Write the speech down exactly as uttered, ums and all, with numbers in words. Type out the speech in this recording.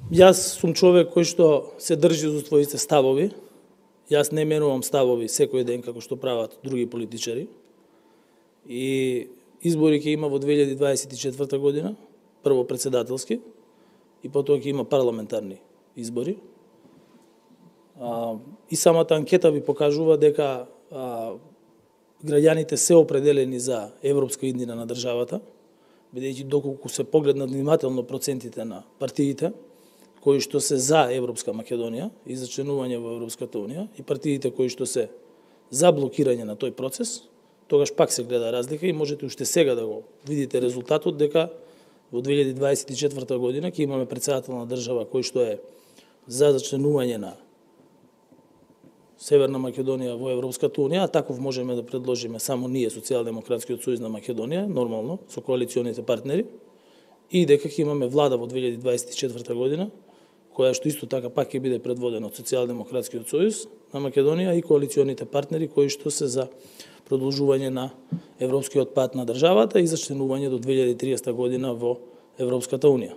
Јас сум човек кој што се држи за своите ставови. Јас не менувам ставови секој ден како што прават други политичари. И избори ќе има во две илјади дваесет и четврта година, прво председателски и потоа ќе има парламентарни избори. А, и самата анкета ви покажува дека а, граѓаните се определени за европска иднина на државата, бидејќи доколку се погледнат внимателно процентите на партиите кои што се за Европска Македонија и за членување во Европската Унија и партиите кои што се за блокирање на тој процес, тогаш пак се гледа разлика и можете уште сега да го видите резултатот дека во две илјади дваесет и четврта година ќе имаме председател на држава кој што е за зачленување на Северна Македонија во Европската Унија, а таков можеме да предложиме само ние, Социјалдемократскиот сојуз на Македонија, нормално, со коалиционите партнери, и дека ќе имаме влада во две илјади дваесет и четврта година, која што исто така пак ќе биде предводена од Социјалдемократскиот сојуз на Македонија и коалиционите партнери кои што се за продолжување на европскиот пат на државата и за членување до две илјади триесета година во Европската Унија.